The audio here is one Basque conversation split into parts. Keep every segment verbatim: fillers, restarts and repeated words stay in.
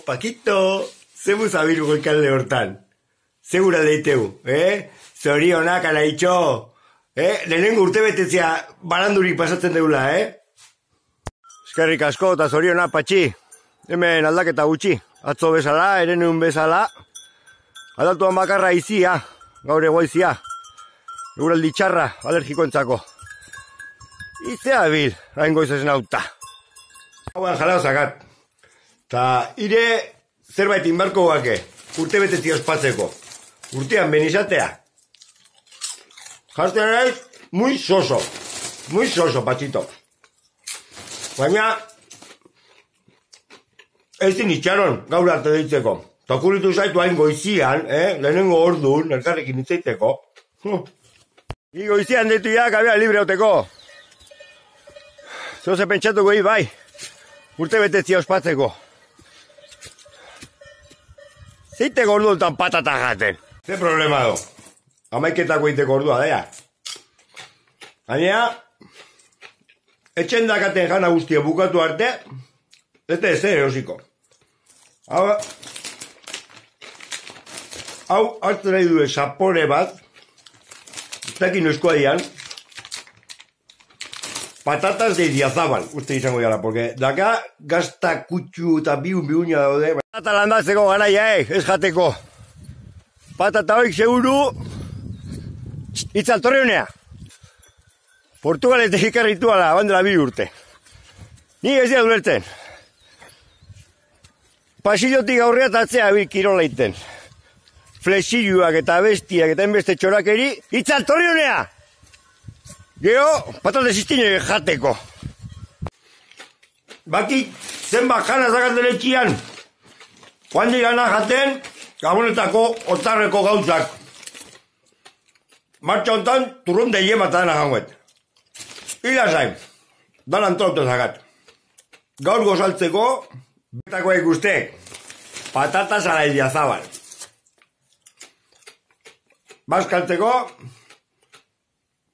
Paquito, zemu zabiru goikalde hortan. Segura deiteu, eh? Zorionak ala itxo. Eh? Lehenengo urte betetzea barandurik pasatzen deula, eh? Eskerrik asko eta zorionak, patxi. Hemen aldaketa gutxi. Atzo bezala, erenun bezala. Adaltuan bakarra izia, gaur egoizia. Eguraldi txarra, alergikoentzako. Izea bil, hain goizezen auta. Hauan jalao zakat. Ta ire zerbait inbarko gake, urte betetzi ospatzeko. Urtean benizatea. Jartzen naiz, muy soso. Muy soso, patxito. Baina, ez din itxaron, gaur arte deitzeko. Takuritu zaitu hain goizian, eh? Lehenengo orduan, elkarrekin itzaiteko. Ni goizian deitu ja, kabea libre hauteko. Zoze pentsatuko hi, bai. Urte betetzi ospatzeko. Zeiteko orduan patata jaten. Ze problema do. Amaiketako iteko ordua, daia. Baina, etxen dakaten jana guztia bukatu arte, ez da ezer erosiko. Hau, hau hartu nahi duen sapore bat, ez dakin noizkoa dian, patatas de Idiazabal, uste izango jara, porque daka gazta kutxu eta biun biunia daude. Patata landatzeko garaia, eh, ez jateko. Patata hoik seguru, itzaltorri honea. Portugaletek ikarrituala, bandela bi urte. Ni ez dira dulertzen. Pasillotik aurrea tatzea bil kirola iten. Flexilluak eta bestiak eta enbeste txorakeri, itzaltorri honea! Gero, patate ziztine jateko. Baki, zenbat jana zakaten etxian. Joan digana jaten, Gabonetako otarreko gauzak. Martxa hontan, turron de yema eta dena janguet. Ila zain, dan antolatu zakat. Gaur gozaltzeko, betako ikustek, patatas ala Idiazabal. Bazkaltzeko,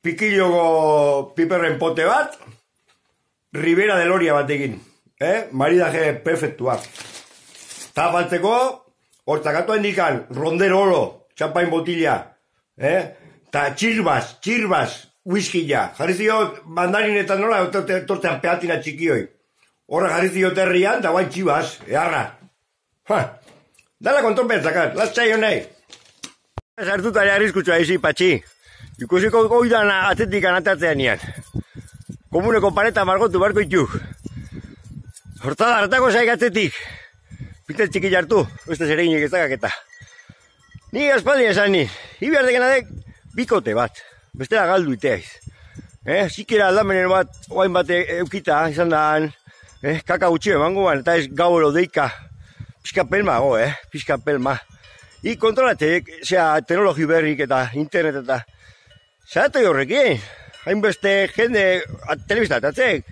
pikilloko piperren pote bat, Ribera de Loria batekin, eh? Maridaje perfektua. Tapaltzeko, hortzakatu indikan, rondero oro, txampain botila, eh? Ta txirbaz, txirbaz, whiskya. Jarri ziot, mandarinetan nola, tortean peatina txikioi. Horra jarri ziot herrian, da guain txibaz, eharra. Ha, dala konton bertzakat, lastzai honei. Sartutari arriskutsua izi, patxi. Ikusiko goidan atzetik anatatzean nian. Komuneko pareta margotu barko ituk. Hortada, hartako zaikatzetik. Pitel txiki jartu, uste zereginik ezagak eta. Ni aspaldi esan ni, hibiar dekenadek bikote bat. Bestela galdu iteaiz. Eh, zikera aldamenen bat, oain bat eukita, izan daan, eh, kaka gutxi emango ban, eta ez gauro deika. Pizka pelma go, eh, pizka pelma. I kontrolatek, zera, teknologi berrik eta internet eta. Zeratu horrekin, hainbeste jende telebiztatatzek.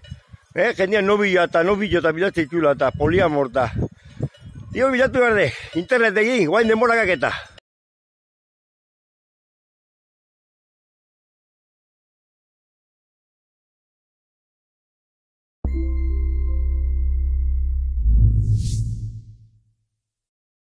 Eh, jendean nobila eta nobilo eta bilatzea ikula eta poliamor eta. Dio bilatu behar de, internet egin, guain demorakak eta.